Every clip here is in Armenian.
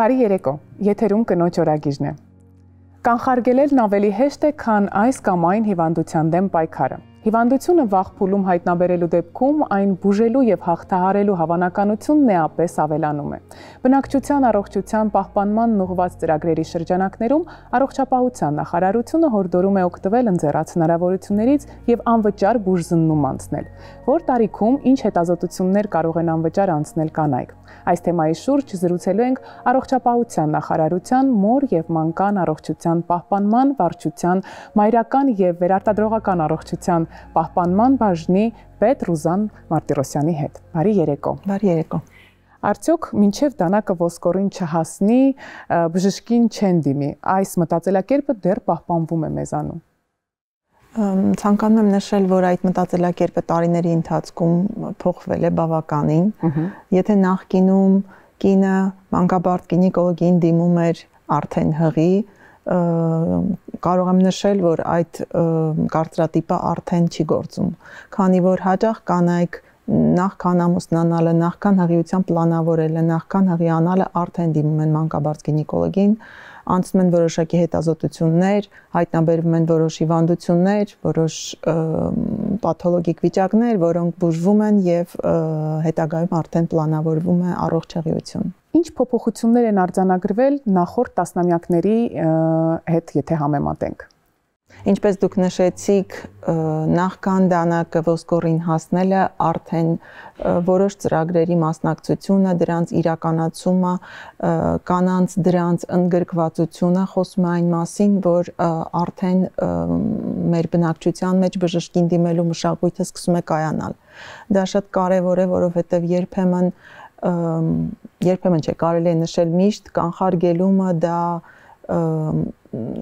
Բարի երեկո, եթերում կնոջ օրագիրն է։ Կանխարգելելն ավելի հեշտ է, քան այս կամ այն հիվանդության դեմ պայքարը։ Հիվանդությունը վաղ փուլում հայտնաբերելու դեպքում այն բուժելու եւ հաղթահարելու հավանականությունն էապես ավելանում է։ Բնակչության առողջության պահպանման ուղղված ծրագրերի շրջանակներում առողջապահության նախարարությունը հորդորում է օգտվել ընձեռած հնարավորություններից եւ անվճար բուժզննում անցնել։ Որ տարիքում ինչ հետազոտություններ կարող են անվճար անցնել կանայք։ Այս թեմայի շուրջ զրուցելու ենք առողջապահության նախարարության մոր եւ մանկան առողջության պահպանման, վարչության, մայրական եւ վերարտադրողական առողջության պահպանման բաժնի պետ Ռուզան Մարտիրոսյանի հետ։ Բարի երեկո։ Բարի երեկո։ Արդյոք մինչև դանակը ոսկորին չհասնի, բժշկին չեն դիմի, այս մտածելակերպը դեռ պահպանվում է մեզանում։ Ցանկանում եմ նշել, որ այդ մտածելակերպը տարիների ընթացքում փոխվել է բավականին։ Եթե նախկինում կինը մանկաբարձ գինեկոլոգին դիմում էր արդեն հղի, կարող եմ նշել, որ այդ կարծրատիպը արդեն չի գործում, քանի որ հաճախ կանայք նախքան ամուսնանալը, նախքան հղիության պլանավորելը, նախքան հղի անալը արդեն դիմում են մանկաբարձ գինեկոլոգին, անցնում են որոշակի հետազոտություններ, հայտնաբերվում են որոշ հիվանդություններ, որոշ պաթոլոգիկ վիճակներ, որոնք բուժվում են եւ հետագայում արդեն պլանավորվում է առողջ հղիություն։ Ինչ փոփոխություններ են արձանագրվել նախորդ տասնամյակների հետ, եթե համեմատենք։ Ինչպես դուք նշեցիք, նախքան դանակը ոսկորին հասնելը արդեն որոշ ծրագրերի մասնակցությունը, դրանց իրականացումը, կանանց դրանց ընդգրկվածությունը խոսում է այն մասին, որ արդեն մեր բնակչության մեջ բժշկին դիմելու մշակույթը սկսում է կայանալ։ Դա շատ կարևոր է, որովհետև երբեմն չէ, կարելի է նշել միշտ կանխարգելումը դա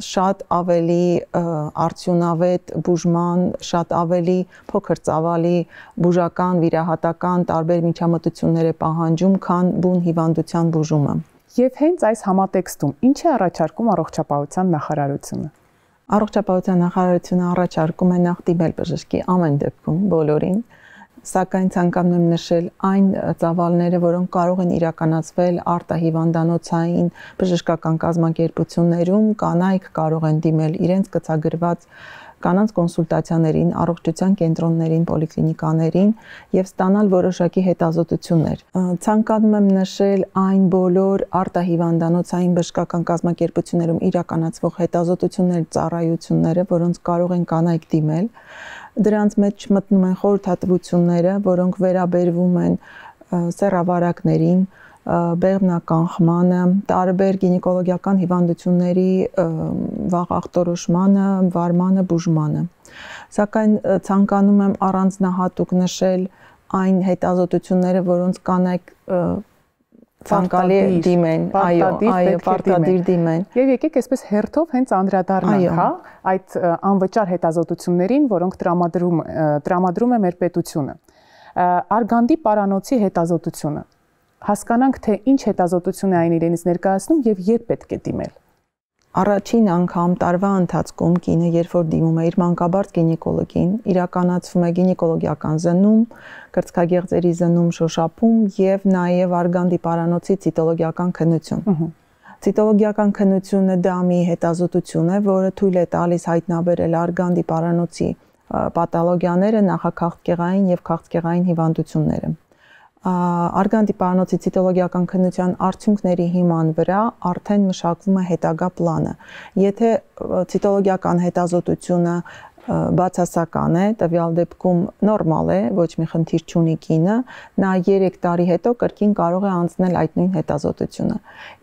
շատ ավելի արդյունավետ բուժման, շատ ավելի փոքր ծավալի բուժական, վիրահատական տարբեր միջամտություններ է պահանջում, քան բուն հիվանդության բուժումը։ Եվ հենց այս համատեքստում ինչ է առաջարկում առողջապահության նախարարությունը։ Առողջապահության նախարարությունը առաջարկում է նախ դիմել բժշկի ամեն դեպքում բոլորին, սակայն ցանկանում եմ նշել այն ծավալները, որոնք կարող են իրականացվել արտահիվանդանոցային բժշկական կազմակերպություններում, կանայք կարող են դիմել իրենց կցագրված կանանց կոնսուլտացիաներին, առողջության կենտրոններին, պոլիկլինիկաներին եւ ստանալ որոշակի հետազոտություններ։ Ցանկանում եմ նշել այն բոլոր արտահիվանդանոցային բժշկական կազմակերպություններում իրականացվող հետազոտություններ, ծառայությունները, որոնց կարող են կանայք դիմել։ Դրանց մեջ մտնում են խորհրդատվությունները, որոնք վերաբերվում են սեռավարակներին, բեղմնականխմանը, տարբեր գինեկոլոգիական հիվանդությունների վաղ ախտորոշմանը, վարմանը, բուժմանը։ Սակայն ցանկանում եմ առանձնահատուկ նշել այն հետազոտությունները, որոնց կանայք ցանկալի է դիմեն, պարտադիր դիմեն։ Եվ եկեք այսպես հերթով հենց անդրադառնանք, հա, այդ անվճար հետազոտություններին, որոնք տրամադրում է մեր պետությունը։ Արգանդի պարանոցի հետազոտությունը։ Հասկանանք, թե ինչ հետազոտություն է այն իրենից ներկայացնում եւ երբ պետք է դիմել։ Առաջին անգամ տարվա ընթացքում կինը, երբ որ դիմում է իր մանկաբարձ գինեկոլոգին, իրականացվում է գինեկոլոգիական զննում, կրծքագեղձերի զննում, շոշափում եւ նաեւ արգանդի պարանոցի ցիտոլոգիական քննություն։ Ցիտոլոգիական քննությունը դա մի հետազոտություն է, որը թույլ է տալիս հայտնաբերել արգանդի պարանոցի պաթոլոգիաները, նախաքաղցկեղային եւ քաղցկեղային հիվանդությունները։ Արգանդի պարանոցի ցիտոլոգիական քննության արդյունքների հիման վրա արդեն մշակվում է հետագա պլանը։ Եթե ցիտոլոգիական հետազոտությունը բացասական է, տվյալ դեպքում նորմալ է, ոչ մի խնդիր չունի կինը, նա 3 տարի հետո կրկին կարող է անցնել այդ նույն հետազոտությունը։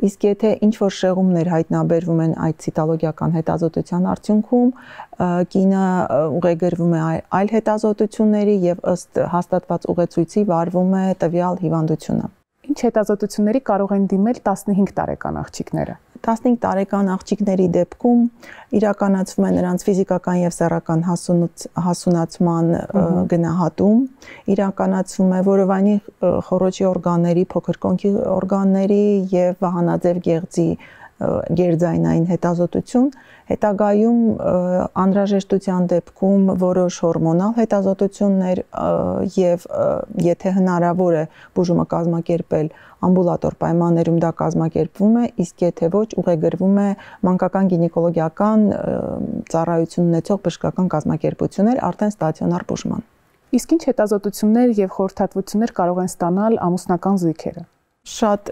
Իսկ եթե ինչ-որ շեղումներ հայտնաբերվում են այդ ցիտոլոգիական հետազոտության արդյունքում, կինը ուղեգրվում է այլ հետազոտությունների եւ ըստ հաստատված ուղեցույցի վարվում է տվյալ հիվանդությունը։ Ինչ հետազոտությունների կարող են դիմել 15 տարեկան աղջիկները։ 15 տարեկան աղջիկների դեպքում իրականացվում է նրանց ֆիզիկական եւ սեռական հասունացման գնահատում, իրականացվում է որովայնի խոռոչի օրգանների, փոքր կոնքի օրգանների եւ վահանաձև գեղձի գերձայնային հետազոտություն, հետագայում անհրաժեշտության դեպքում որոշ հորմոնալ հետազոտություններ եւ եթե հնարավոր է բուժումը կազմակերպել ամբուլատոր պայմաններում դա կազմակերպվում է, իսկ եթե ոչ ուղեգրվում է մանկական գինեկոլոգիական ծառայություն ունեցող բժշկական կազմակերպություններ արդեն ստացիոնար բուժման։ Իսկ ինչ հետազոտություններ եւ խորհրդատվություններ կարող են ստանալ ամուսնական զույգերը։ Շատ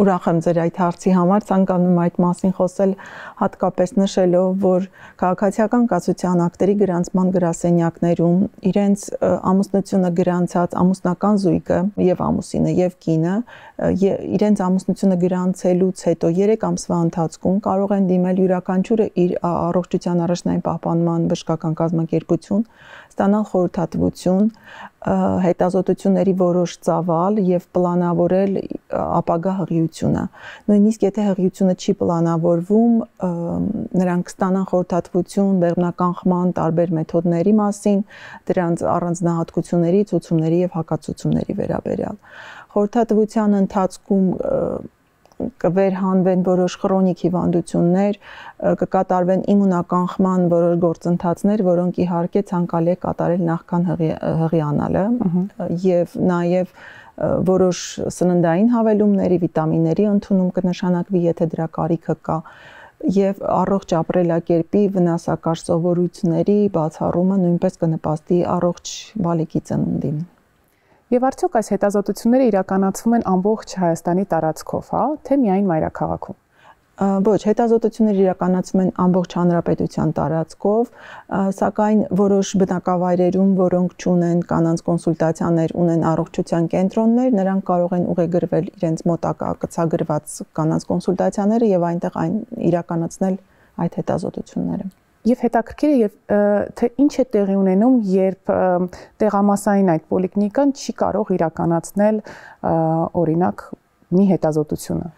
ուրախ եմ ձեր այդ հարցի համար, ցանկանում եմ այդ մասին խոսել, հատկապես նշելով, որ քաղաքացիական կացության ակտերի գրանցման գրասենյակներում իրենց ամուսնությունը գրանցած ամուսնական զույգը եւ ամուսինը եւ կինը իրենց ամուսնությունը գրանցելուց հետո 3 ամսվա ընթացքում կարող են դիմել յուրաքանչյուրը իր առողջության առաջնային պահպանման բժշկական կազմակերպություն, ստանալ խորհրդատվություն, հետազոտությունների որոշ ծավալ եւ պլանավորել ապագա հղիությունը։ Նույնիսկ եթե հղիությունը չի պլանավորվում, նրանք ստանան խորհրդատվություն բեղմնականխման տարբեր մեթոդների մասին, դրանց առանձնահատկությունների, ցուցումների եւ հակացուցումների վերաբերյալ։ Խորհրդատվության ընթացքում կվերհանվեն որոշ քրոնիկ հիվանդություններ, կկատարվեն իմունականխման որոշ գործընթացներ, որոնք իհարկե ցանկալի է կատարել նախքան հղիանալը եւ նաեւ որոշ սննդային հավելումների, վիտամինների ընդունում կնշանակվի, եթե դրա կարիքը կա, եւ առողջ ապրելակերպի վնասակար սովորույթների բացառումը նույնպես կնպաստի առողջ բալիկի ծնունդին։ Եվ արդյոք այս հետազոտությունները իրականացվում են ամբողջ Հայաստանի տարածքով, հա, թե միայն մայրաքաղաքում։ Ոչ, հետազոտությունները իրականացվում են ամբողջ հանրապետության տարածքով, սակայն որոշ բնակավայրերում, որոնք չունեն կանանց կոնսուլտացիաներ, ունեն առողջության կենտրոններ, նրանք կարող են ուղեգրվել իրենց մոտակա կցագրված կանանց կոնսուլտացիաները եւ այնտեղ իրականացնել այդ հետազոտությունները։ Եվ հետաքրքիր է թե ինչ է տեղի ունենում, երբ տեղամասային այդ պոլիկլինիկան չի կարող իրականացնել օրինակ մի հետազոտությունը։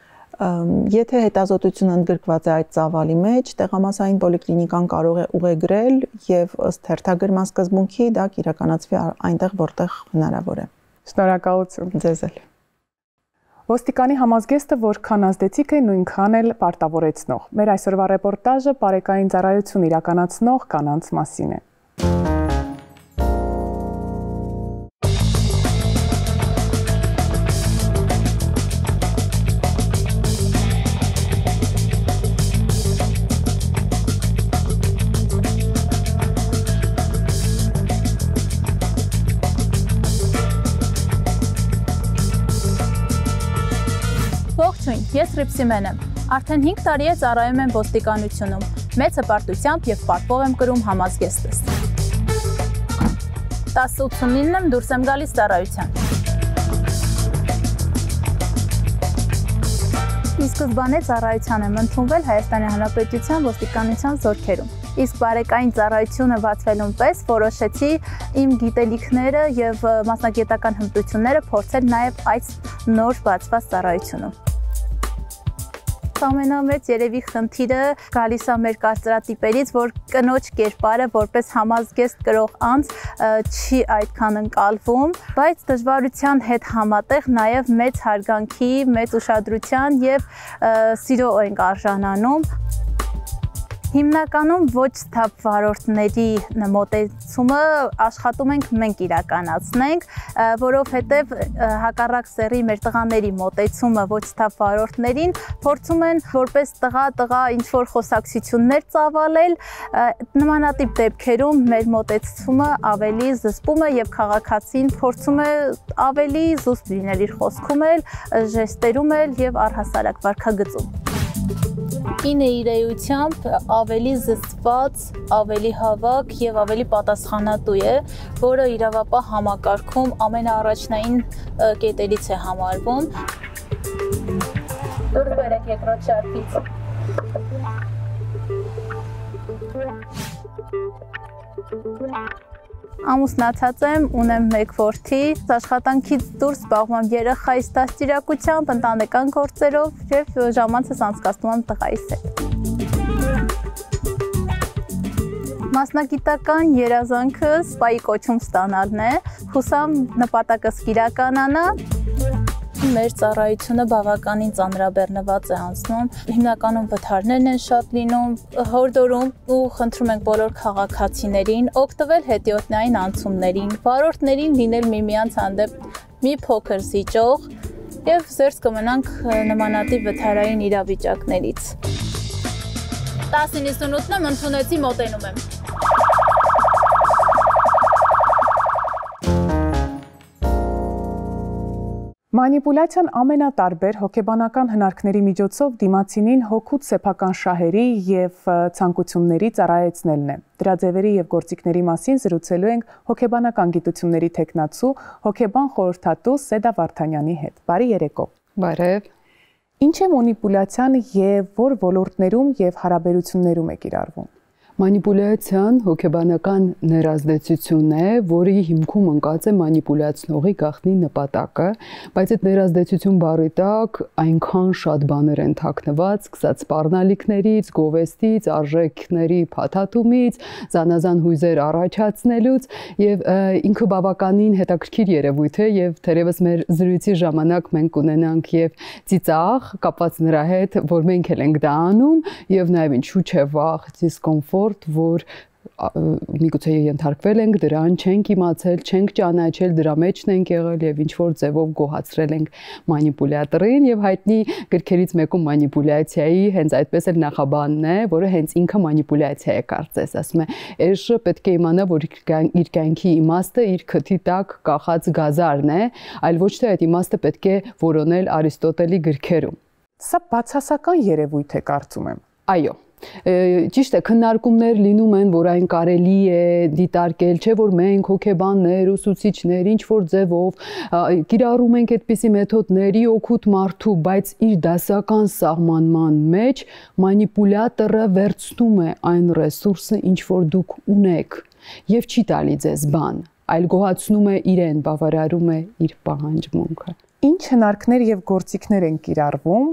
Եթե հետազոտությունը ընդգրկված է այդ ծավալի մեջ, տեղամասային պոլիկլինիկան կարող է ուղեգրել եւ ըստ հերթագրման սկզբունքի դա կիրականացվի այնտեղ, որտեղ հնարավոր է։ Շնորհակալություն։ Ձեզ էլ։ Ոստիկանի համազգեստը որքան ազդեցիկ է, նույնքան էլ պարտավորեցնող։ Մեր այսօրվա ռեպորտաժը բարեկային ծառայություն իրականացնող կանանց մասին է։ Ես Ռիփսիմեն եմ։ Արդեն 5 տարի է ծառայում եմ ոստիկանությունում։ Մեծ հպարտությամբ եւ պարտվող եմ կրում համազգեստս։ 10:89-ին եմ դուրս եմ գալիս ծառայության։ Ի սկզբանե ծառայության եմ ընդունվել Հայաստանի Հանրապետության ոստիկանության զորքերում։ Իսկ բարեկային ծառայությունը բացվելուն պես որոշեցի իմ գիտելիքները եւ մասնագիտական հմտությունները փորձել նաեւ այս նոր բացված ծառայությունում։ Ամենամեծ երևի խնդիրը գալիս է մեր կարծրատիպերից, որ կնոջ կերպարը որպես համազգեստ կրող անձ չի այդքան ընկալվում, բայց դժվարության հետ համատեղ նաև մեծ հարգանքի, մեծ ուշադրության եւ սիրո ենք արժանանում։ Հիմնականում ոչ թափ վարորդների մոտեցումը աշխատում ենք մենք իրականացնենք, որովհետև հակառակ սեռի մեր տղաների մոտեցումը ոչ թափ վարորդներին փորձում են որպես տղա ինչ-որ խոսակցություններ ծավալել, նմանատիպ դեպքերում մեր մոտեցումը ավելի զսպում է եւ քաղաքացին փորձում է ավելի զուսպ լինել իր խոսքում էլ, ժեստերում էլ եւ առհասարակ վարքագծում։ Կինը իր էությամբ ավելի զսպված, ավելի հավաք եւ ավելի պատասխանատու է, որը իրավապահ համակարգում ամենաառաջնային կետերից է համարվում։ Դուրս բերեք երկրորդ շարքից։ Ամուսնացած եմ, ունեմ 1 որդի, աշխատանքից դուրս զբաղվում եմ երեխայիս դաստիարակությամբ, ընտանեկան գործերով եւ ժամանցս անցկացնում եմ տղայիս հետ։ Մասնագիտական երազանքս սպայի կոչում ստանալն է, հուսամ նպատակս կիրականանա։ Մեր ծառայությունը բավականին ծանրաբեռնված է անցնում, հիմնականում վթարներն են շատ լինում, հորդորում ու խնդրում ենք բոլոր քաղաքացիներին օգտվել հետիոտնային անցումներին, վարորդներին լինել միմյանց հանդեպ մի փոքր զիջող եւ զերծ կմնանք նմանատիպ վթարային իրավիճակներից։ 10:98-ն եմ, ընդունեցի, մոտենում եմ։ Մանիպուլյացիան ամենատարբեր հոգեբանական հնարքների միջոցով դիմացինին հոգուց սեփական շահերի եւ ցանկությունների ծառայեցնելն է։ Դրա ձևերի եւ գործիքների մասին զրուցելու ենք հոգեբանական գիտությունների թեկնածու, հոգեբան խորհրդատու Սեդա Վարդանյանի հետ։ Բարի երեկո։ Բարև։ Ինչ է մանիպուլյացիան եւ որ ոլորտներում եւ հարաբերություններում է կիրառվում։ Մանիպուլյացիան հոգեբանական ներազդեցություն է, որի հիմքում ընկած է մանիպուլյացնողի գաղտնի նպատակը, բայց այդ ներազդեցություն բառի տակ այնքան շատ բաներ են թաքնված, սկսած սպառնալիքներից, գովեստից, արժեքների փաթաթումից, զանազան հույզեր առաջացնելուց եւ ինքը բավականին հետաքրքիր երևույթ է եւ թերևս մեր զրույցի ժամանակ մենք կունենանք եւ ծիծաղ կապված նրա հետ, որ մենք էլ ենք դա անում եւ նաեւ ինչու՞ չէ վախ, դիսկոմֆորտ որ միգուցե ենթարկվել ենք դրան, չենք իմացել, չենք ճանաչել, դրա մեջն ենք եղել եւ ինչ որ ձևով գոհացրել ենք մանիպուլյատորին եւ հայտնի գրքերից մեկում մանիպուլյացիայի հենց այդպես էլ նախաբանն է, որը հենց ինքը մանիպուլյացիա է կարծես, ասում է, «Էշը պետք է իմանա, որ իր կյանքի իմաստը իր քթի տակ կախած գազարն է, այլ ոչ թե այդ իմաստը պետք է որոնել Արիստոտելի գրքերում»։ Սա բացասական երևույթ է, կարծում եմ։ Այո։ Ճիշտ է, քննարկումներ լինում են, որ այն կարելի է դիտարկել, չէ՞ որ մենք հոգեբաններ, ուսուցիչներ, ինչ որ ձևով կիրառում ենք այդպիսի մեթոդների օգուտ մարդու, բայց իր դասական սահմանման մեջ մանիպուլյատորը վերցնում է այն ռեսուրսը, ինչ որ դուք ունեք, եւ չի տալի ձեզ բան, այլ գոհացնում է իրեն, բավարարում է իր պահանջմունքը։ Ինչ հնարքներ եւ գործիքներ են կիրառվում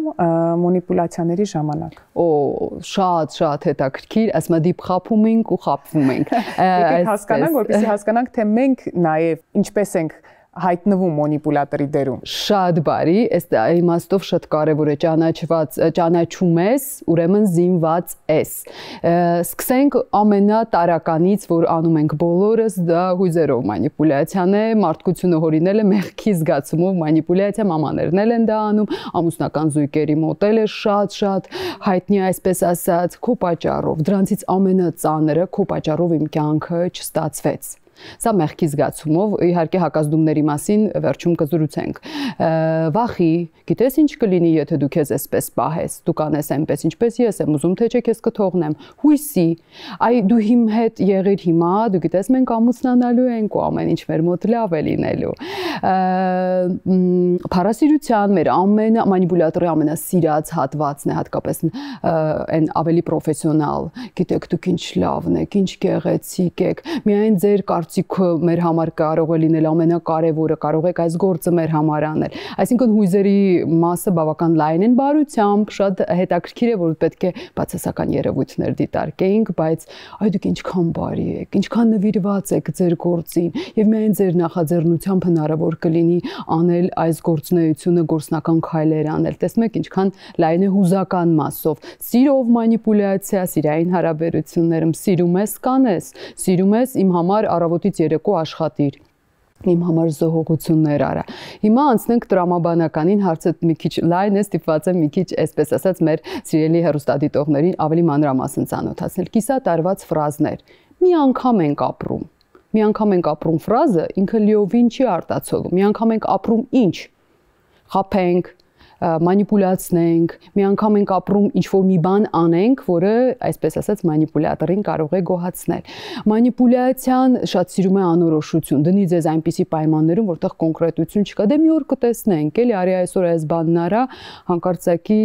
մանիպուլյացիաների ժամանակ։ Շատ հետաքրքիր, ասում եմ դիպ խափում ենք ու խափվում ենք։ Եկեք հասկանանք, որպեսզի հասկանանք, թե մենք նաեւ ինչպես ենք հայտնվում մանիպուլյատորի դերում։ Շատ բարի, այս իմաստով շատ կարևոր է ճանաչում ես, ուրեմն զինված ես։ Սկսենք ամենատարականից, որ անում ենք բոլորս, դա հույզերով մանիպուլյացիան է, մարդկությունը հորինել է մեղքի զգացումով մանիպուլյացիա, մամաներն են դա անում, ամուսնական զույգերի մոտ էլ է շատ հայտնի այսպես ասած, քո պատճառով, դրանցից ամենածանրը քո պատճառով իմ կյանքը չստացվեց։ Սա մեղքի զգացումով, իհարկե հակազդումների մասին վերջում կզրուցենք։ Վախի, գիտես ինչ կլինի, եթե դու քեզ այսպես պահես, դու կանես այնպես, ինչպես ես եմ ուզում, թե չէ քեզ կթողնեմ։ Հույսի, այ դու իմ հետ եղիր հիմա, դու գիտես մենք ամուսնանալու ենք ու ամեն ինչ մեր մոտ լավ է լինելու։ Փառասիրության մեր մանիպուլյատորի ամենասիրած հատվածն է, հատկապես այն ավելի պրոֆեսիոնալ։ Գիտեք, դուք ինչ լավն եք, ինչ գեղեցիկ եք։ Միայն ձեր կարծիքը մեր համար կարող է լինել ամենակարևորը, կարող եք այս գործը մեր համար անել։ Այսինքն հույզերի մասը բավական լայն են բարությամբ, շատ հետաքրքիր է, որ պետք է բացասական երևույթներ դիտարկեինք, բայց այ դուք ինչքան բարի եք, ինչքան նվիրված եք ձեր գործին եւ միայն ձեր նախաձեռնությամբ հնարավոր կլինի անել այս գործունեությունը, գործնական քայլեր անել։ Տեսնում եք ինչքան լայն է հուզական մասով։ Սիրով մանիպուլյացիա, սիրային հարաբերություններում սիրում ես կանես, սիրում ես իմ համար առավոտից երեկո աշխատիր, իմ համար զոհողություններ արա։ Հիմա անցնենք տրամաբանականին, հարցը մի քիչ լայն է, ստիպված եմ մի քիչ, այսպես ասած, մեր սիրելի հեռուստադիտողներին ավելի մանրամասն ծանոթացնել։ Կիսատարված ֆրազներ։ Մի անգամ ենք ապրում։ Մի անգամ ենք ապրում ֆրազը ինքը լիովին չի արտացոլում։ Մի անգամ ենք ապրում ինչ։ Խափենք, մանիպուլացնենք, մի անգամ ենք ապրում ինչ-որ մի բան անենք, որը, այսպես ասած, մանիպուլյատորին կարող է գոհացնել։ Մանիպուլյացիան շատ սիրում է անորոշություն, դնի ձեզ այնպիսի պայմաններում, որտեղ կոնկրետություն չկա, դե մի օր կտեսնենք, էլի, արի այսօր այս բանն արա, հանկարծակի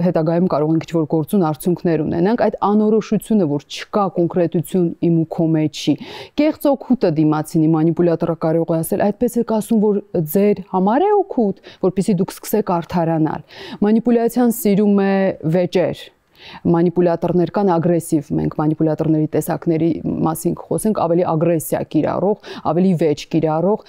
հետագայում կարող ենք ինչ-որ գործուն արդյունքներ ունենանք, այդ անորոշությունը, որ չկա կոնկրետություն իմ ու քո մեջի։ Կեղծ օգուտը դիմացինի մանիպուլյատորը կարող է ասել, այդպես եք ասում, որ ձեր համար է օգուտ, որպեսզի դուք սկսեք արդարանալ։ Մանիպուլյացիան սիրում է վեճեր։ Մանիպուլյատորներ կան ագրեսիվ, մենք մանիպուլյատորների տեսակների մասին խոսենք, ավելի ագրեսիա կիրառող, ավելի վեճ կիրառող,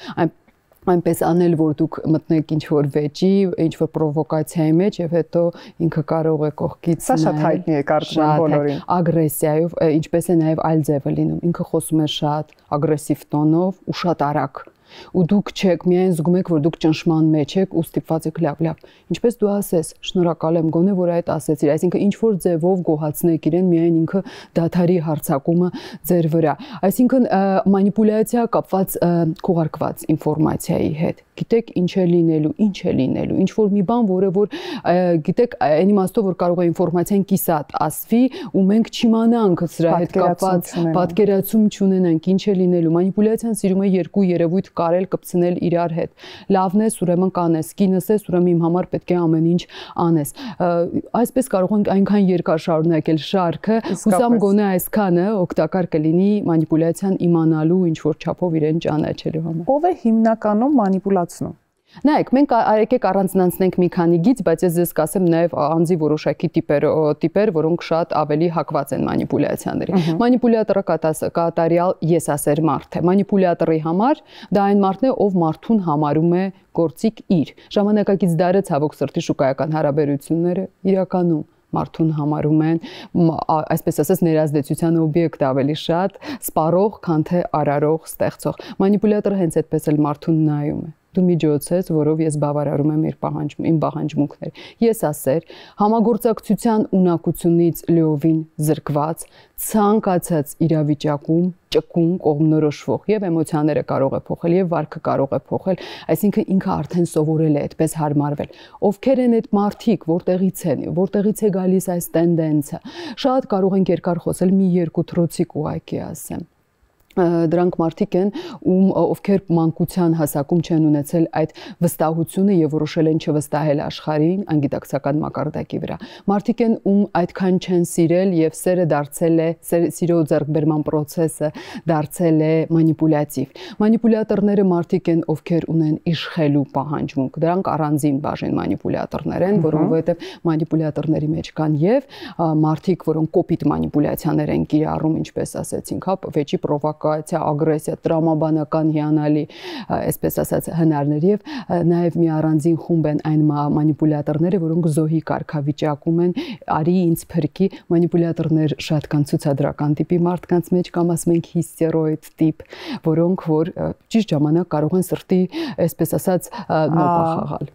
այնպես անել, որ դուք մտնեք ինչ-որ վեճի, ինչ-որ պրովոկացիայի մեջ եւ հետո ինքը կարող է կողքից Սա շատ հայտնի է կարծում եմ բոլորին։ Ագրեսիայով, ինչպես է նաեւ այլ ձև է լինում։ Ինքը խոսում է շատ ագրեսիվ տոնով ու շատ արագ։ Ու դուք չեք միայն զգում եք, որ դուք ճնշման մեջ եք ու ստիպված եք լավ, ինչպես դու ասես, շնորհակալ եմ գոնե որ այդ ասեցիր, այսինքն ինչ որ ձևով գոհացնեք իրեն, միայն ինքը դաթարի հարցակումը ձեր վրա, այսինքն մանիպուլյացիա կապված քողարկված ինֆորմացիայի հետ, գիտեք ինչ է լինելու, ինչ որ մի բան, որը որ գիտեք այն իմաստով որ կարող է ինֆորմացիան կիսատ ասվի ու մենք չիմանանք սրա հետ կապված պատկերացում չունենանք, ինչ է լինելու, մանիպուլյացիան սիրում է երկու երևույթ կարել կպցնել իրար հետ։ Լավն ես, ուրեմն կանես, կինս ես, ուրեմն իմ համար պետք է ամեն ինչ անես։ Այսպես կարող ենք այնքան երկար շարունակել շարքը, հուսամ գոնե այսքանը օգտակար կլինի մանիպուլյացիան իմանալու ինչ որ չափով իրեն ճանաչելու համար։ Ո՞վ է հիմնականում մանիպուլացնում։ Նայեք, մենք եկեք առանձնացնենք մի քանի գիծ, բայց ես ձեզ կասեմ նաև անձի որոշակի տիպեր, որոնք շատ ավելի հակված են մանիպուլյացիաների։ Մանիպուլյատորը կատարյալ եսասեր մարդ է։ Մանիպուլյատորի համար դա այն մարդն է, ով մարդուն համարում է գործիք իր։ Ժամանակակից դարը ցավոք սրտի շուկայական հարաբերությունները իրականում մարդուն համարում են, այսպես ասած, ներազդեցության օբյեկտ ավելի շատ, սպառող, քան թե արարող, ստեղծող։ Մանիպուլյատորը հենց այդպես էլ մարդուն նայում է։ Դու միջոց ես, որով ես բավարարում եմ իմ պահանջմունքները։ Ես ասեր, համագործակցության ունակությունից լիովին զրկված, ցանկացած իրավիճակում ճկուն կողմնորոշվող եւ էմոցիաները կարող է փոխել եւ վարքը կարող է փոխել, այսինքն ինքը արդեն սովորել է այդպես հարմարվել։ Ովքեր են այդ մարդիկ, որտեղից է գալիս այս տենդենսը։ Շատ կարող ենք երկար խոսել, մի երկու թրոցիկ ուղակի ասեմ։ Դրանք մարդիկ են, ովքեր մանկության հասակում չեն ունեցել այդ վստահությունը եւ որոշել են չվստահել աշխարհին անգիտակցական մակարդակի վրա։ Մարդիկ են, ում այդքան չեն սիրել եւ սերը դարձել է, սիրո ձեռքբերման process-ը դարձել է մանիպուլյատիվ։ Մանիպուլյատորները մարդիկ են, ովքեր ունեն իշխելու պահանջմունք։ Դրանք առանձին բաժին մանիպուլյատորներ են, որովհետեւ մանիպուլյատորների մեջ կան եւ մարդիկ, որոնք կոպիտ մանիպուլյացիաներ են կիրառում, ինչպես ասեցինք, հա, վեճի պրովոկացիա, ագրեսիա, տրամաբանական հիանալի, այսպես ասած, հնարներ եւ նաեւ մի առանձին խումբ են այն մանիպուլյատորները, որոնք զոհի կարգավիճակում են, արի ինձ փրկի, մանիպուլյատորներ շատ կան ցուցադրական տիպի մարդկանց մեջ կամ ասում ենք հիստերոիդ տիպ, որոնք որ ճիշտ ժամանակ կարող են սրտի, այսպես ասած, նոպա խաղալ։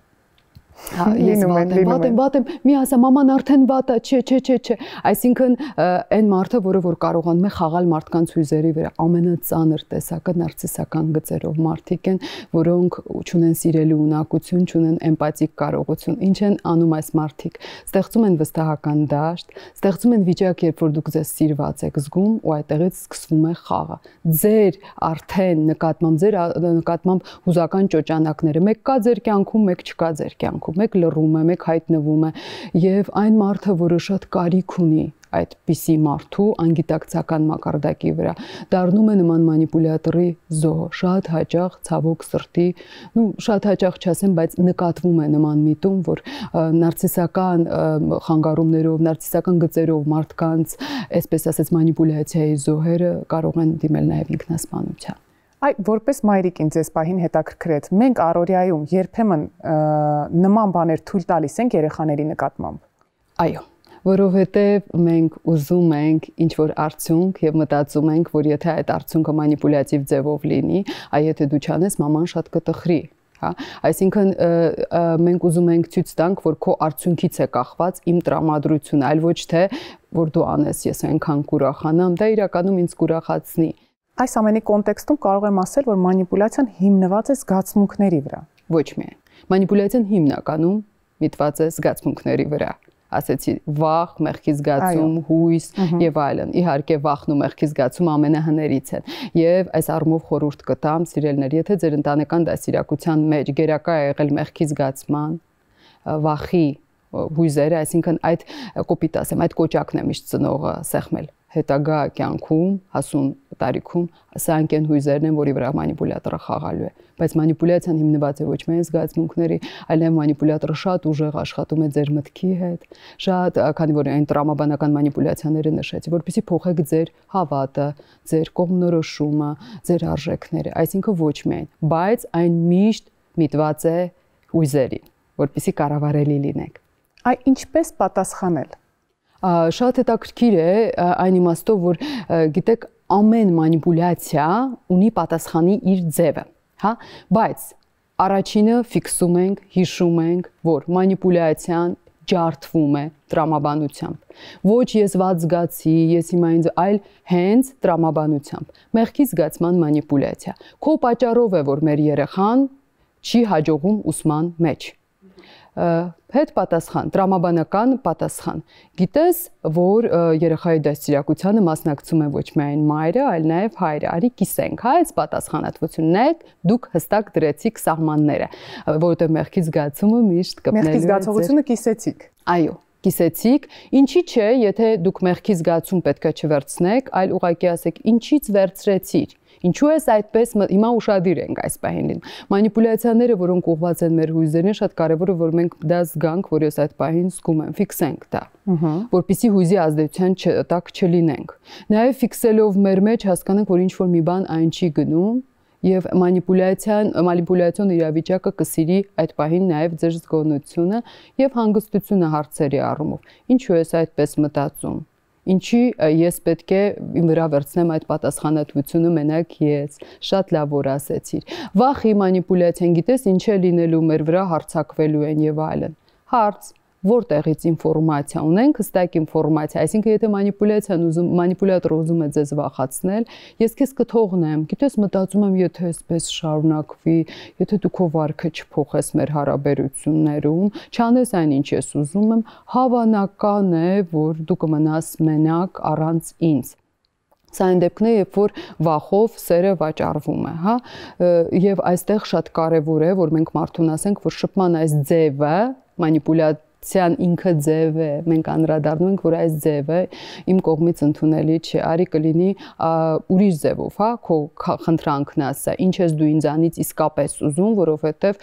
Ես վատ եմ, մի ասա, մաման արդեն վատ է, չէ, այսինքն այն մարդը, որը որ կարողանում է խաղալ մարդկանց հույզերի վրա, ամենածանր տեսակը նարցիսական գծերով մարդիկ են, որոնք չունեն սիրելու ունակություն, չունեն էմպաթիկ կարողություն, ինչ են անում այս մարդիկ, ստեղծում են վստահական դաշտ, ստեղծում են վիճակ, երբ որ դուք ձեզ սիրված եք զգում ու այդտեղից սկսվում է խաղը, ձեր արդեն նկատմամբ հուզական ճոճանակները, մեկ կա ձեր կյանքում, մեկ չկա ձեր կյանքում, մեկ լռում է, մեկ հայտնվում է եւ այն մարդը, որը շատ կարիք ունի այդպիսի մարդու անգիտակցական մակարդակի վրա, դառնում է նման մանիպուլյատորի զոհ, շատ հաճախ ցավոք սրտի, շատ հաճախ չասեմ, բայց նկատվում է նման միտում, որ նարցիսական խանգարումներով, նարցիսական գծերով մարդկանց, այսպես ասած, մանիպուլյացիայի զոհերը կարող են դիմել նաեւ ինքնասպանության։ Այ որպես մայրիկ ինձ այս պահին հետաքրքրեց, մենք առօրյայում երբեմն նման բաներ թույլ տալիս ենք երեխաների նկատմամբ։ Այո, որովհետև մենք ուզում ենք ինչ-որ արդյունք եւ մտածում ենք, որ եթե այդ արդյունքը մանիպուլյատիվ ձևով լինի, այ եթե դու չանես, մաման շատ կտխրի։ Հա, այսինքն մենք ուզում ենք ցույց տանք, որ քո արդյունքից է կախված իմ տրամադրությունը, այլ ոչ թե որ դու անես, ես այնքան կուրախանամ, դա իրականում ինձ կուրախացնի։ Այս ամենի կոնտեքստում կարող եմ ասել, որ մանիպուլյացիան հիմնված է զգացմունքների վրա։ Ոչ միայն։ Մանիպուլյացիան հիմնականում միտված է զգացմունքների վրա։ Ասեցի վախ, մեղքի զգացում, հույս եւ այլն։ Իհարկե վախն ու մեղքի զգացումը ամենահներից են։ Եվ այս առումով խորհուրդ կտամ, սիրելիներ, եթե ձեր ընտանեկան դաստիարակության մեջ գերակա է եղել մեղքի զգացման, վախի հույզերը, այսինքն այդ կոպիտ ասեմ, այդ կոճակն է միշտ ծնողը սեղմել հետագա կյանքում, հասուն տարիքում, սա այն հույզերն են, որի վրա մանիպուլյատորը խաղալու է, բայց մանիպուլյացիան հիմնված է ոչ միայն զգացմունքների, այլ նաև մանիպուլյատորը շատ ուժեղ աշխատում է ձեր մտքի հետ, շատ, քանի որ այն տրամաբանական մանիպուլյացիաները նշեցի, որպեսզի փոխեք ձեր հավատը, ձեր կողմնորոշումը, ձեր արժեքները, այսինքն ոչ միայն, բայց այն միշտ միտված է հույզերին, որպեսզի կառավարելի լինեք։ Այ ինչպես պատասխանել։ Շատ հետաքրքիր է այն իմաստով, որ գիտեք, ամեն մանիպուլյացիա ունի պատասխանի իր ձևը, հա, բայց առաջինը ֆիքսում ենք, հիշում ենք, որ մանիպուլյացիան ջարդվում է տրամաբանությամբ։ Ոչ ես վատ զգացի, ես հիմա ինձ, այլ հենց տրամաբանությամբ։ Մեղքի զգացման մանիպուլյացիա։ Քո պատճառով է, որ մեր երեխան չի հաջողում ուսման մեջ։ Հետ պատասխան, տրամաբանական պատասխան։ Գիտես, որ երեխայի դաստիարակությանը մասնակցում է ոչ միայն մայրը, այլ նաև հայրը։ Արի կիսենք, հա, այս պատասխանատվությունն է, դուք հստակ դրեցիք սահմանները, որովհետև մեղքի զգացումը միշտ կպնելու է։ Մեղքի զգացողությունը կիսեցիք։ Այո, կիսեցիք, ինչի՞ չէ, եթե դուք մեղքի զգացում պետք է չվերցնեք, այլ ուղղակի ասեք, ինչից վերցրեցիր։ Ինչու ես այդպես հիմա ուշադիր ենք այս պահին լինում։ Մանիպուլյացիաները, որոնք ուղղված են մեր հույզերին, շատ կարևոր է, որ մենք դա զգանք, որ ես այդ պահին զգում եմ, ֆիքսենք դա, որպեսզի հույզի ազդեցության տակ չլինենք։ Նաև ֆիքսելով մեր մեջ հասկանանք, որ ինչ-որ մի բան այն չի գնում, եւ մանիպուլյացիոն իրավիճակը կսիրի այդ պահին նաև ձեր զգոնությունը եւ հանգստությունը հարցերի առումով։ Ինչու ես այդպես մտածում։ Ինչի ես պետք է իմ վրա վերցնեմ այդ պատասխանատվությունը մենակ ես, շատ լավ որ ասեցիր։ Վախի մանիպուլյացիան գիտես ինչ է լինելու մեր վրա հարձակվելու են եւ այլն։ Հարց. Որտեղից ինֆորմացիա ունենք, հստակ ինֆորմացիա, այսինքն եթե մանիպուլյատորը ուզում է ձեզ վախացնել, ես քեզ կթողնեմ, գիտես մտածում եմ, եթե այսպես շարունակվի, եթե դու քո վարքը չփոխես մեր հարաբերություններում, չանես այն ինչ ես ուզում եմ, հավանական է, որ դու կմնաս մենակ առանց ինձ։ Սա այն դեպքն է, երբ որ վախով սերը վաճառվում է, հա, եւ այստեղ շատ կարեւոր է, որ մենք մարդուն ասենք, որ շփման այս ձևը, մանիպուլյացիան ինքը ձև է, մենք անդրադառնում ենք, որ այս ձևը իմ կողմից ընդունելի չէ, արի կլինի ուրիշ ձևով, հա, քո խնդրանքն ասա, ինչ ես դու ինձանից իսկապես ուզում, որովհետեւ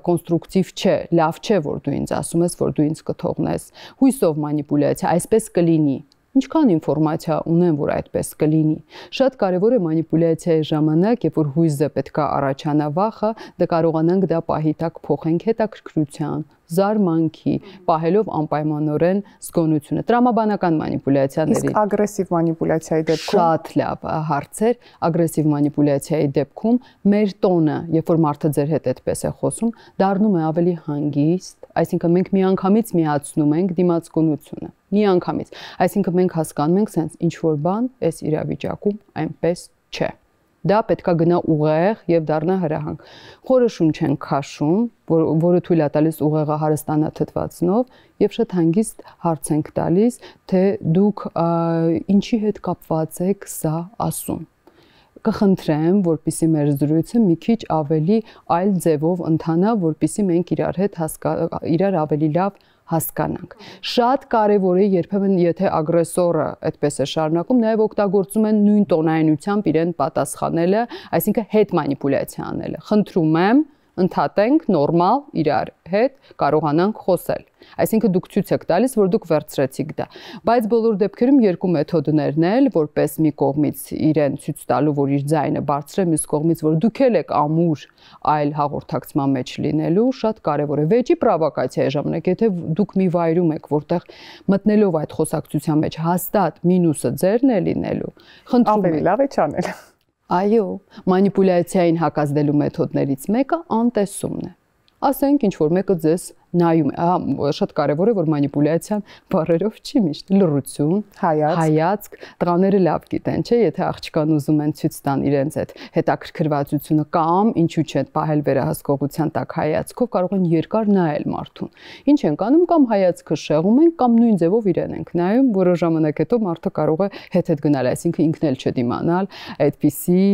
կոնստրուկտիվ չէ, լավ չէ, որ դու ինձ ասում ես, որ դու ինձ կթողնես, հույսով մանիպուլյացիա, այսպես կլինի։ Ինչքան ինֆորմացիա ունեմ, որ այդպես կլինի։ Շատ կարևոր է մանիպուլյացիայի ժամանակ, երբ որ հույզը պետք է առաջանա վախը, դա կարողանանք դա պահի տակ փոխենք հետաքրքրության, զարմանքի, պահելով անպայմանորեն զգոնությունը։ Տրամաբանական մանիպուլյացիաների։ Իսկ ագրեսիվ մանիպուլյացիայի դեպքում շատ լավ հարցեր, ագրեսիվ մանիպուլյացիայի դեպքում մեր տոնը, երբ որ մարդը ձեր հետ այդպես է խոսում, դառնում է ավելի հանգիստ, այսինքն մենք միանգամից միացնում ենք դիմացկունությունը։ Միանգամից։ Այսինքն մենք հասկանում ենք, sense ինչ որ բան այս իրավիճակում այնպես չէ։ Դա պետքա գնա ուղեղ եւ դառնա հրահանգ։ Խորը շունչ են քաշում, որը թույլ է տալիս ուղեղը հարստանա թթվածնով եւ շատ հանգիստ հարց ենք տալիս, թե դուք ինչի հետ կապված եք սա ասում։ Կխնդրեմ, որպեսզի մեր զրույցը մի քիչ ավելի այլ ձևով ընթանա, որպեսզի մենք իրար ավելի լավ հասկանանք։ Շատ կարևոր է երբեմն եթե ագրեսորը այդպես է շարունակում, նաև օգտագործում են նույն տոնայնությամբ իրեն պատասխանելը, այսինքն հետ մանիպուլյացիա անելը։ Խնդրում եմ, ընդհատենք նորմալ իրար հետ կարողանանք խոսել։ Այսինքն դուք ցույց եք տալիս, որ դուք վերցրեցիք դա։ Բայց բոլոր դեպքերում երկու մեթոդներն էլ, որպես մի կողմից իրեն ցույց տալու, որ իր ձայնը բարձր է, մյուս կողմից, որ դուք եք ամուր այլ հաղորդակցման մեջ լինելու, շատ կարևոր է։ Վեճի պրովոկացիայի ժամանակ, եթե դուք մի վայրում եք, որտեղ մտնելով այդ խոսակցության մեջ հաստատ մինուսը ձերն է լինելու, խնդրում եմ, ավելի լավ է չանել։ Այո, մանիպուլյացիային հակազդելու մեթոդներից մեկը անտեսումն է։ Ասենք ինչ որ մեկը ձեզ նայում է, շատ կարևոր է որ մանիպուլյացիան բառերով չի միշտ լռություն, հայացք, տղաները լավ գիտեն, չէ, եթե աղջկան ուզում են ցույց տան իրենց այդ հետաքրքրվածությունը կամ ինչու՞ չէ պահել վերահսկողության տակ հայացքով կարող են երկար նայել մարդուն։ Ինչ են անում կամ հայացքը շեղում են կամ նույն ձևով իրեն են նայում, որոշ ժամանակ հետո մարդը կարող է հետ գնալ, այսինքն ինքն էլ չդիմանալ այդպիսի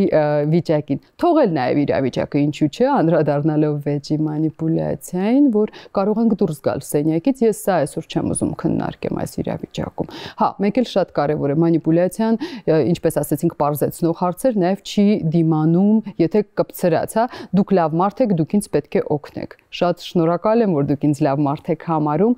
վիճակին։ Թողել նաև իրավիճակը ինչու՞ չէ, անդրադառնալով վեճի մանիպուլյացիային, որ կարող ենք դուրս գալ սենյակից, ես սա այսօր չեմ ուզում քննարկեմ այս իրավիճակում։ Հա, մեկ էլ շատ կարևոր է մանիպուլյացիան, ինչպես ասեցինք, պարզեցնող հարցեր, նաև չի դիմանում, եթե կպցրած, հա, դուք լավ մարդ եք, դուք ինձ պետք է օգնեք։ Շատ շնորհակալ եմ, որ դուք ինձ լավ մարդ եք համարում,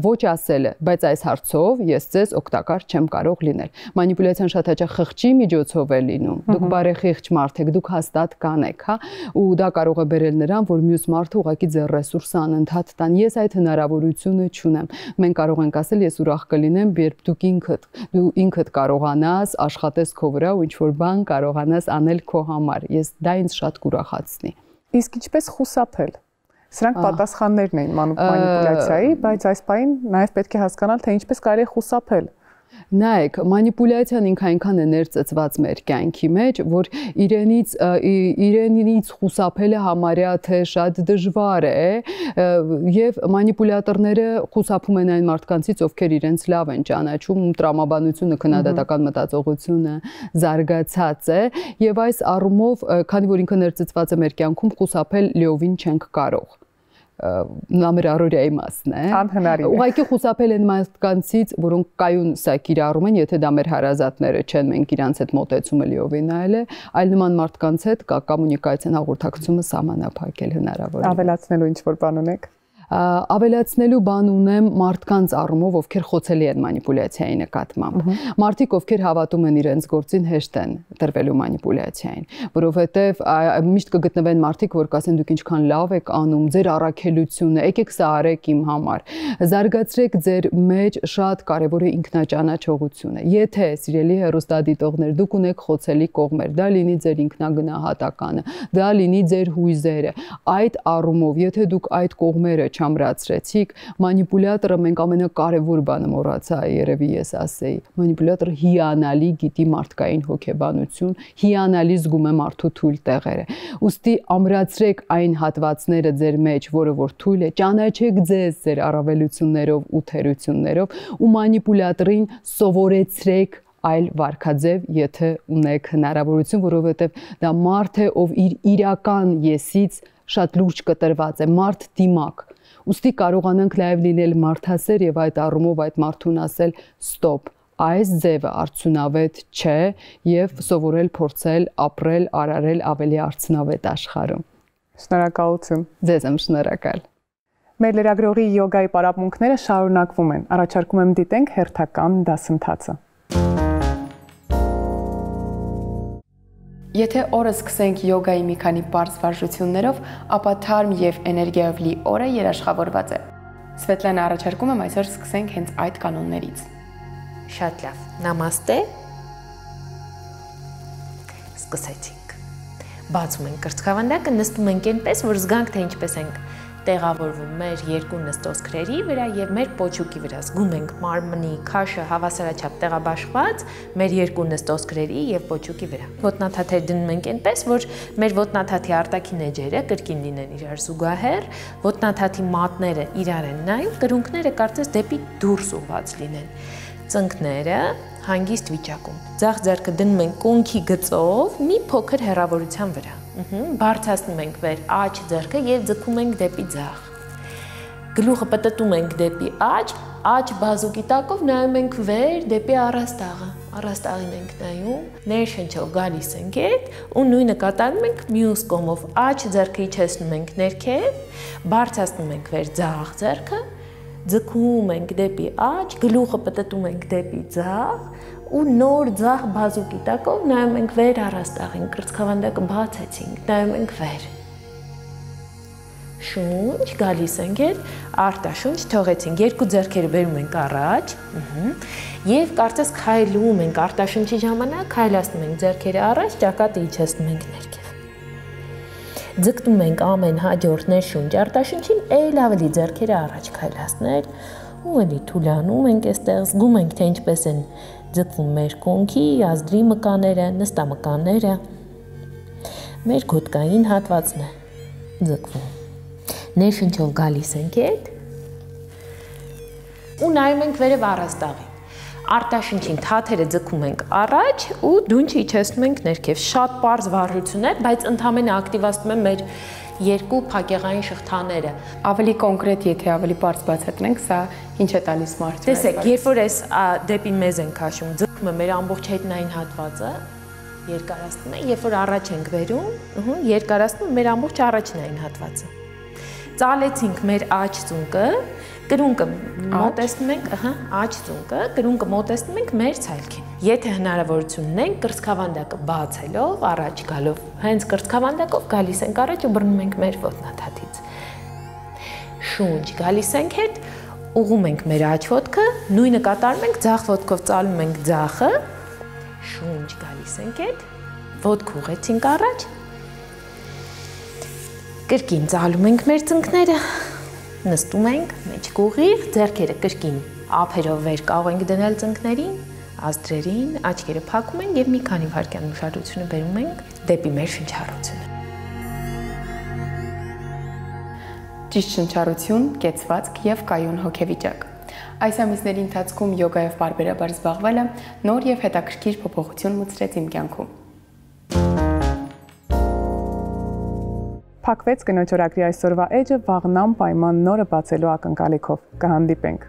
ոչ ասելը, բայց այս հարցով ես ձեզ օգտակար չեմ կարող լինել։ Մանիպուլյացիան շատ հաճախ խղճի միջոցով է լինում։ Դուք բարեխիղճ մարդ եք, դուք հաստատ կանեք, հա, ու դա կարող է բերել նրան, որ մյուս մարդը ուղղակի ձեր ռեսուրսը անընդհատ տան։ Ես այդ հնարավորությունը չունեմ։ Մենք կարող ենք ասել, ես ուրախ կլինեմ, երբ դու ինքդ կարողանաս աշխատես քո վրա ու ինչ-որ բան կարողանաս անել քո համար։ Ես դա ինձ շատ կուրախացնի։ Իսկ ինչպես խուսափել։ Սրանք պատասխաններն էին մանիպուլյացիայի, բայց այս պահին նաև պետք է հասկանալ, թե ինչպես կարելի է խուսափել։ Նայեք, մանիպուլյացիան ինքը այնքան է ներծծված մեր կյանքի մեջ, որ իրենից խուսափելը համարյա թե շատ դժվար է, եւ մանիպուլյատորները խուսափում են այն մարդկանցից, ովքեր իրենց լավ են ճանաչում, տրամաբանությունը, քննադատական մտածողությունը զարգացած է, եւ այս առումով, քանի որ ինքը ներծծված է մեր կյանքում, խուսափել լիովին չենք կարող։ Նա մեր առօրյայի մասն է։ Անհնարին է։ Ուղղակի խուսափել են մարդկանցից, որոնք կայուն սա կիրառում են, եթե դա մեր հարազատները չեն, մենք իրանց հետ մոտեցումը լիովին նայել է, այլ նման մարդկանց հետ կոմունիկացիան, հաղորդակցությունը սահմանափակել հնարավոր է։ Ավելացնելու ինչ-որ բան ունեք։ Ավելացնելու բան ունեմ մարդկանց առումով, ովքեր խոցելի են մանիպուլյացիայի նկատմամբ։ Մարդիկ, ովքեր հավատում են իրենց գործին, հեշտ են տրվելու մանիպուլյացիային, որովհետև միշտ կգտնվեն մարդիկ, որ կասեն դուք ինչքան լավ եք անում, ձեր առաքելությունը, եկեք սա արեք իմ համար։ Զարգացրեք ձեր մեջ, շատ կարևոր է ինքնաճանաչողությունը։ Եթե սիրելի հեռուստադիտողներ, դուք ունեք խոցելի կողմեր, դա լինի ձեր ինքնագնահատականը, դա լինի ձեր հույզերը, այդ առումով, եթե դուք այդ կողմերը չամրացրեցիք, մանիպուլյատորը մենք ամենակարևոր բանը մոռացա, երևի ես ասեի, մանիպուլյատորը հիանալի գիտի մարդկային հոգեբանություն, հիանալի զգում է մարդու թույլ տեղերը։ Ուստի ամրացրեք այն հատվածները ձեր մեջ, որը որ թույլ է, ճանաչեք ձեզ ձեր առավելություններով ու թերություններով ու մանիպուլյատորին սովորեցրեք այլ վարքաձև, եթե ունեք հնարավորություն, որովհետև դա մարդ է, ով իր իրական եսից շատ լուրջ կտրված է, մարդ դիմակ։ Ուստի կարողանանք նաև լինել մարդասեր եւ այդ առումով այդ մարդուն ասել ստոպ, այս ձևը արդյունավետ չէ եւ սովորել, փորձել, ապրել, արարել ավելի արդյունավետ աշխարհում։ Շնորհակալություն։ Ձեզ եմ շնորհակալ։ Մեր լրագրողի յոգայի պարապմունքները շարունակվում են։ Առաջարկում եմ դիտենք հերթական դասընթացը։ Եթե օրը սկսենք յոգայի մի քանի պարզ վարժություններով, ապա թարմ եւ էներգիայով լի օրը երաշխավորված է։ Սվետլանա, առաջարկում եմ այսօր սկսենք հենց այդ կանոններից։ Շատ լավ։ Նամաստե։ Սկսեցինք։ Բացում ենք կրծքավանդակը, նստում ենք այնպես, որ զգանք, թե ինչպես ենք տեղավորվում մեր երկու նստոսքրերի վրա եւ մեր պոչուկի վրա։ Զգում ենք մարմնի քաշը հավասարաչափ տեղաբաշխված մեր երկու նստոսքրերի եւ պոչուկի վրա։ Ոտնաթաթեր դնում ենք այնպես, որ մեր ոտնաթաթի արտաքին էջերը կրկին լինեն իրար զուգահեռ, ոտնաթաթի մատները իրար են նայում, կրունկները կարծես դեպի դուրս ուղղված լինեն։ Ծնկները հանգիստ վիճակում։ Ձախ ձեռքը դնում ենք կոնքի գծով մի փոքր հեռավորության վրա։ Բարձրացնում ենք վեր աջ ձեռքը եւ ձգում ենք դեպի ձախ։ Գլուխը պտտում ենք դեպի աջ բազուկի տակով նայում ենք վեր դեպի առաստաղը։ Առաստաղին ենք նայում, ներշնչով գալիս ենք հետ ու նույնը կատարում ենք մյուս կողմով։ Աջ ձեռքը իջեցնում ենք ներքև, բարձրացնում ենք վեր ձախ ձեռքը, ձգում ենք դեպի աջ, գլուխը պտտում ենք դեպի ձախ ու նոր ձախ բազուկի տակով նայում ենք վեր առաստաղին, կրծքավանդակը բացեցինք, նայում ենք վեր։ Շունչ, գալիս ենք հետ, արտաշունչ թողեցինք, երկու ձեռքերը բերում ենք առաջ եւ կարծես քայլում ենք արտաշունչի ժամանակ, քայլացնում ենք ձեռքերը առաջ, ճակատը իջեցնում ենք ներքև։ Ձգտում ենք ամեն հաջորդ ներշունչ արտաշունչին, այլ ավելի ձեռքերը առաջ քայլացնել ու էլի թուլանում ենք այստեղ, զգում ենք, թե ինչպես են ձգվում մեր կոնքի, ազդրի մկաները, նստամկանները, մեր գոտկային հատվածն է ձգվում։ Ներշնչով գալիս ենք հետ ու նայում ենք վերև առաստաղին։ արտաշնչին թաթերը ձգում ենք առաջ ու դունչը իջեցնում ենք ներքև։ Շատ պարզ վարժություն է, բայց ընդհանրապես ակտիվացնում է մեր երկու փակեղային շղթաները։ Ավելի կոնկրետ, եթե ավելի բարձ բացատրենք, սա ինչ է տալիս մարդուն։ Տեսեք, երբ որ այս դեպի մեզ ենք քաշում, ձգում է մեր ամբողջ հետնային հատվածը, երկարացնում է, երբ որ առաջ ենք վերում, երկարացնում է մեր ամբողջ առաջնային հատվածը։ Ծալեցինք մեր աջ ծունկը, կրունկը մոտեցնում ենք, աջ ծունկը, կրունկը մոտեցնում ենք մեր ցայլքին։ Եթե հնարավորություն ունենք, կրծքավանդակը բացելով, առաջ գալով, հենց կրծքավանդակով գալիս ենք առաջ ու բռնում ենք մեր ոտնաթաթից։ Շունչ գալիս ենք հետ, ուղում ենք մեր աջ ոտքը, նույնը կատարում ենք, ձախ ոտքով ծալում ենք ձախը, շունչ գալիս ենք հետ, ոտք ուղեցինք առաջ, կրկին ծալում ենք մեր ծնկները, նստում ենք, մեջք ուղիղ, ձեռքերը կրկին ափերով վեր կարող ենք դնել ծնկներին, ազդրերին, աչքերը փակում ենք եւ մի քանի վայրկյան ուշադրությունը բերում ենք դեպի մեր շնչառությունը։ Ճիշտ շնչառություն, կեցվածք եւ կայուն հոգեվիճակ։ Այս ամիսների ընթացքում յոգայով բարբերաբար զբաղվելը նոր եւ հետաքրքիր փոփոխություն մուծրեց իմ կյանքում։ Փակվեց կնոջ օրագրի այսօրվա էջը վաղն անպայման նորը բացելու ակնկալիքով։ Կհանդիպենք։